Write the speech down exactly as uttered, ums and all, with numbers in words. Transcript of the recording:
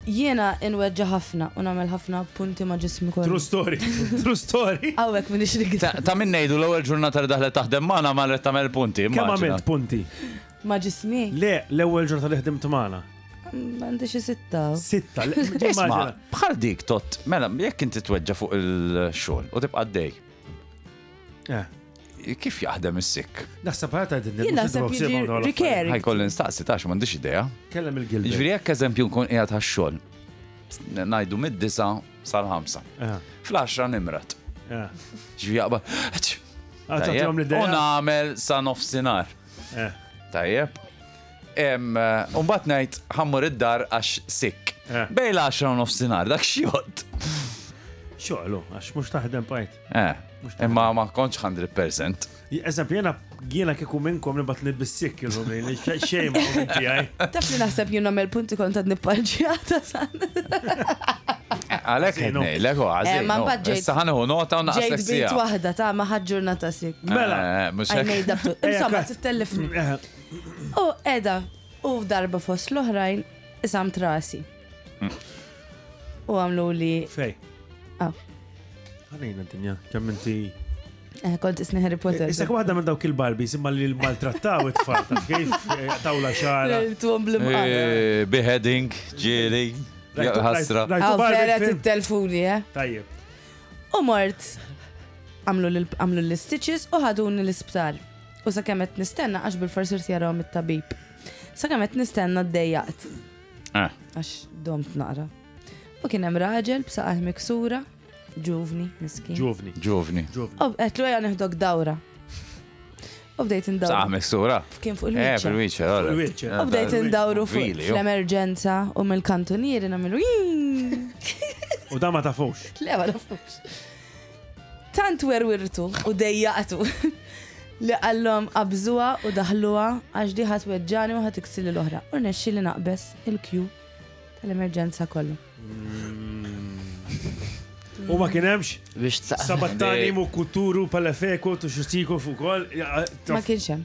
Jiena inweġġa ħafna u nagħmel ħafna punti ma' ġismi kollu. True story. True story. Hawnhekk minix Ta' nikdeb. Ta' min ngħidu, l-ewwel ġurnata li daħlet taħdem magħna marret tagħmel punti. Kemm immaġina. għamilt punti? Ma' ġismi? Le, l-ewwel ġurnata li ħdimt magħna. Għandi xi sitta. Sitta. le- Isma, Immaġina. bħal dik tot, mela, jekk inti tweġġa fuq il-xogħol u tibqa' dej, Eh, kif jaħdem is-sick? Naħseb ħata din. Jien naħseb jiġi recurring. Ħa jkolli nistaqsi tax m'għandix idea. Kellem il-Gilbert. Ġifieri jekk eżempju nkun qiegħed għax-xogħol, ngħidu mid-disa sal-ħamsa. Eh, Fl-għaxra nimrat. eh. Ġifieri jaqbad. Ah, tagħtihom U l-idea. nagħmel sa nofsinhar. Eh, Tajjeb. Em, Umbagħad ngħid ħa mmur id-dar għax sick. Eh. Bejn l-għaxra u nofsinhar, dak xjott. Xogħlu, għax mhux taħdem bajt. Eh, imma ma kontx mija fil-mija. Eżempju, jena jiena kieku minnkom nibgħat nib-sick illum li xejn ma minn tiegħi. Taf li naħseb jien nagħmel punti kont għad nipparġjata san. Għalek Għażinu. ngħidlek u Eh, ma mbagħad ġejt- Issa ħa nieħu nota u Ġejt naqslek bint siegħa. waħda ta' ma ħadd ġurnata sick. Mela. Eh, mhux I hekk. made up to. Ejja, Insomma, kat. tittellifni. Eh, U edha, u darba fost l-oħrajn, qsamt rasi. U għamlu li, Fej. Ah. Għalina d-dinja, kemm inti. eh, kont isni Harry Potter. Issa waħda minn dawk il-Barbies imma li maltrattaw it-tfal taf kif eh, tawla xara. Tuhom bl-imqar. Eh, Beheading, ġieli, Rajtu- ħasra. rajtu Għaw Barbie vera film? tittelfuni, eh? Tajjeb. U mort, għamlu l- għamlu l-stitches u ħaduni l-isptar. U sa qed nistenna, għax bil-forsi jarawhom it-tabib. Sa qed nistenna d-dejjaqt, Eh, għax domt naqra. U kien hemm raġel b'saqajh miksura, ġuvni, miskin. Ġuvni. Ġuvni. Ġuvni. U għedtlu ejja neħdok dawra. U bdejt Saħ indawru. miksura. Kien fuq Eh, il-wheelchair. fil-wheelchair, Fuq alright. il-wheelchair. U bdejt indawru fuq Really, oh. fl-emerġenza u mill-kantunieri nagħmlu "Jing!" U da ma tafux. Le, ma nafux. Tant werwirtu u dejjaqtu li qallhom qabżuha u daħluha għax di ħa tweġġagħni u ħa tiksirli l-oħra. U nexxi li naqbeż il-queue tal-emerġenza kollu. U ma kien hemmx Biex tsaqsa. sabattani mu kuturu palefeko tu xustiku fuq kol. Ma kienx hemm.